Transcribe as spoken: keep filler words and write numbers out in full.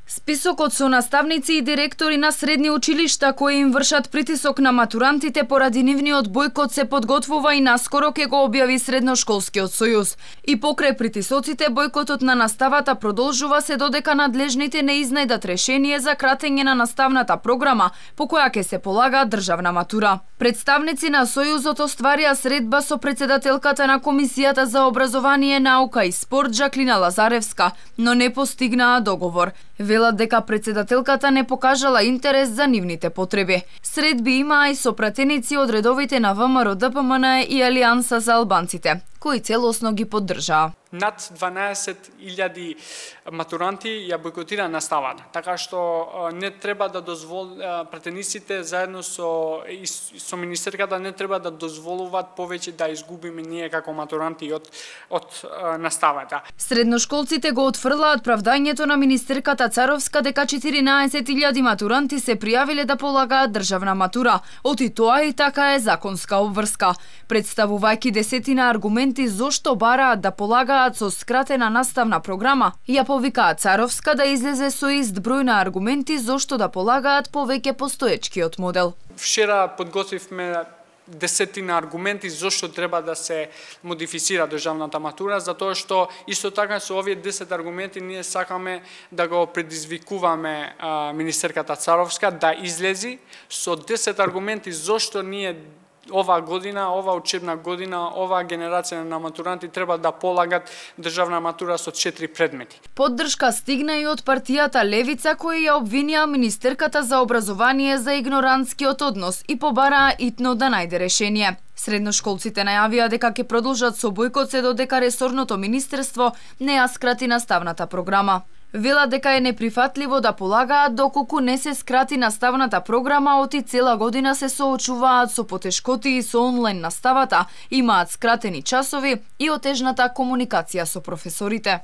Списокот со наставници и директори на средни училишта кои им вршат притисок на матурантите поради нивниот бојкот се подготвува и наскоро ќе го објави Средношколскиот сојуз. И покрај притисоците, бојкотот на наставата продолжува се додека надлежните не изнајдат решение за кратење на наставната програма по која ќе се полага државна матура. Представници на Сојузот остварија средба со председателката на Комисијата за образование, наука и спорт Жаклина Лазаревска, но не постигнаа договор. Велат дека председателката не покажала интерес за нивните потреби. Средби имаа и сопратеници од редовите на ВМРО Д П М Н и Алијанса за албанците, кои целосно ги поддржаа. Над дванаесет илјади матуранти ја бојкотира наставата, така што не треба да дозвол пратениците заедно со со министерката не треба да дозволуваат повеќе да изгубиме ние како матуранти од од наставата. Средношколците го отфрлаат правдањето на министерката Царовска дека четиринаесет илјади матуранти се пријавиле да полагаат државна матура, оти тоа и така е законска обврска. Представувајќи десетина аргументи зошто бараат да полагаат со скратена наставна програма, ја повикаа Царовска да излезе со ист број на аргументи зошто да полагаат повеќе постоечкиот модел. Вчера подготвивме десетина аргументи зошто треба да се модифицира државната матура, затоа што исто така со овие десет аргументи ние сакаме да го предизвикуваме а, министерката Царовска да излези со десет аргументи зошто ние ова година, ова учебна година, ова генерација на матуранти треба да полагат државна матура со четири предмети. Поддршка стигна и од партијата Левица, кои ја обвинија министерката за образование за игнорантскиот однос и побараа итно да најде решение. Средношколците најавија дека ќе продолжат со бојкот се додека ресорното министерство не ја скрати наставната програма. Велат дека е неприфатливо да полагаат доколку не се скрати наставната програма, оти цела година се соочуваат со потешкоти со онлайн наставата, имаат скратени часови и отежната комуникација со професорите.